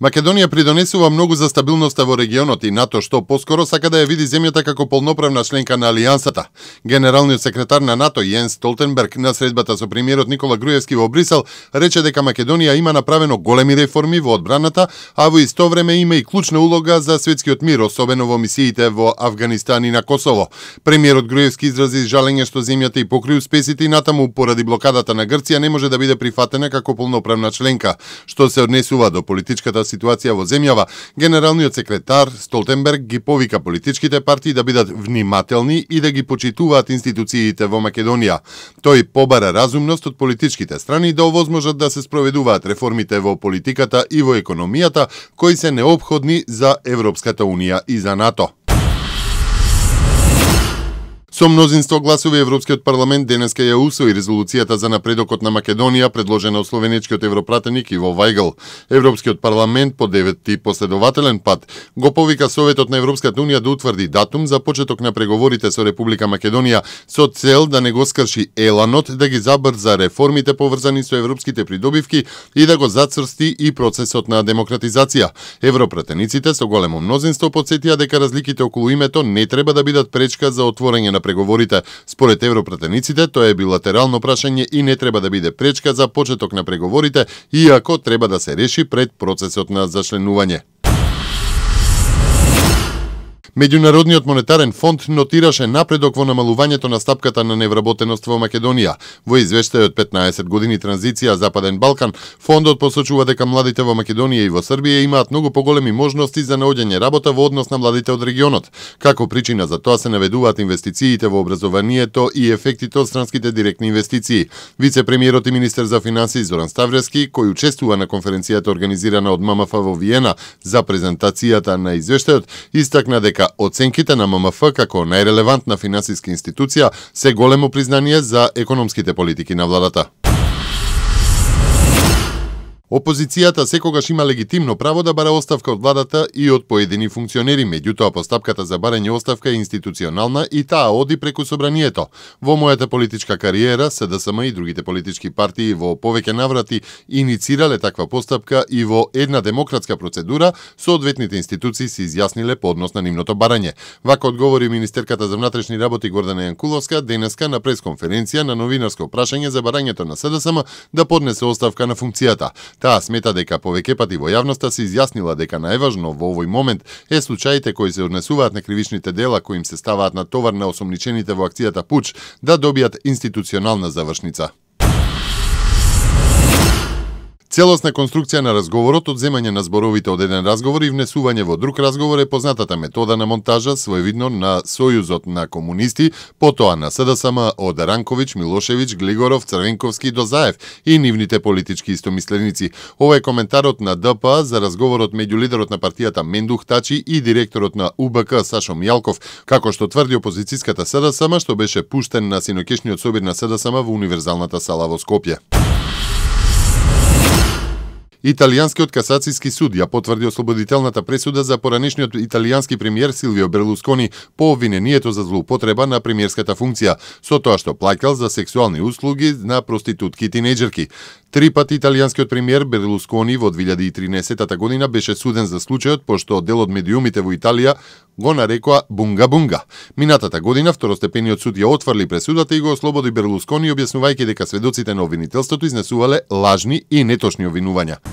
Македонија придонесува многу за стабилноста во регионот и НАТО што поскоро сака да ја види земјата како полноправна членка на Алијансата. Генералниот секретар на НАТО Јенс Столтенберг на средбата со премиерот Никола Груевски во Брисел рече дека Македонија има направено големи реформи во одбраната, а во исто време има и клучна улога за светскиот мир, особено во мисиите во Авганистан и на Косово. Премиерот Груевски изрази жалење што земјата и покри успесите и натаму поради блокадата на Грција не може да биде прифатена како полноправна членка, што се однесува до политичката ситуација во земјава. Генералниот секретар Столтенберг ги повика политичките партии да бидат внимателни и да ги почитуваат институциите во Македонија. Тој побара разумност од политичките страни да овозможат да се спроведуваат реформите во политиката и во економијата кои се неопходни за Европската унија и за НАТО. Со мнозинство гласови Европскиот парламент денеска ја усвои резолуцијата за напредокот на Македонија, предложена од словенечкиот европратеник Иво Вајгл. Европскиот парламент по 9-ти последователен пат го повика Советот на Европската унија да утврди датум за почеток на преговорите со Република Македонија со цел да не го скрши еланот да ги забрза реформите поврзани со европските придобивки и да го зацрсти и процесот на демократизација. Европратениците со големо мнозинство потсетија дека разликите околу името не треба да бидат пречка за отворање на преговорите. Според европратениците, тоа е билатерално прашање и не треба да биде пречка за почеток на преговорите, иако треба да се реши пред процесот на зачленување. Меѓународниот монетарен фонд нотираше напредок во намалувањето на стапката на невработеност во Македонија. Во извештајот 15 години транзиција Западен Балкан, фондот посочува дека младите во Македонија и во Србија имаат многу поголеми можности за наоѓање работа во однос на младите од регионот. Како причина за тоа се наведуваат инвестициите во образованието и ефектите од странските директни инвестиции. Вице-премиерот и министер за финансии Зоран Ставрески, кој учествува на конференцијата организирана од ММФ во Виена за презентацијата на извештајот, истакна дека оценките на ММФ како најрелевантна финансиска институција се големо признание за економските политики на владата. Опозицијата секогаш има легитимно право да бара оставка од владата и од поедини функционери, меѓутоа постапката за барање оставка е институционална и таа оди преку собранието. Во мојата политичка кариера, СДСМ и другите политички партии во повеќе наврати иницирале таква постапка и во една демократска процедура, соодветните институции се изјасниле по однос на нивното барање. Вака одговори министерката за внатрешни работи Гордана Јанкуловска денеска на пресконференција на новинарско прашање за барањето на СДСМ да поднесе оставка на функцијата. Таа смета дека повеќе пати во јавноста се изјаснила дека најважно во овој момент е случаите кои се однесуваат на кривичните дела кои им се ставаат на товар на осомничените во акцијата Пуч да добијат институционална завршница. Целосна конструкција на разговорот, одземање на зборовите од еден разговор и внесување во друг разговор е познатата метода на монтажа, своевидно на Сојузот на комунисти, потоа на СДСМ од Ранковиќ, Милошевиќ, Глигоров, Црвенковски до Заев и нивните политички истомисленици. Ова е коментарот на ДПА за разговорот меѓу лидерот на партијата Мендух Тачи и директорот на УБК Сашо Мијалков, како што тврди опозицијската СДСМ, што беше пуштен на синокешниот собир на СДСМ во Универзалната сала во Скопје. Италијанскиот касацијски суд ја потврди ослободителната пресуда за поранешниот италијански премиер Силвио Берлускони по обвинението за злоупотреба на премиерската функција, со тоа што плаќал за сексуални услуги на проститутки и тинејџерки. 3 пати италијанскиот премиер Берлускони во 2013 година беше суден за случајот, пошто дел од медиумите во Италија го нарекоа бунга-бунга. Минатата година второстепениот суд ја отфрли пресудата и го ослободи Берлускони, објаснувајќи дека сведоците на обвинителството изнесувале лажни и неточни обвинувања.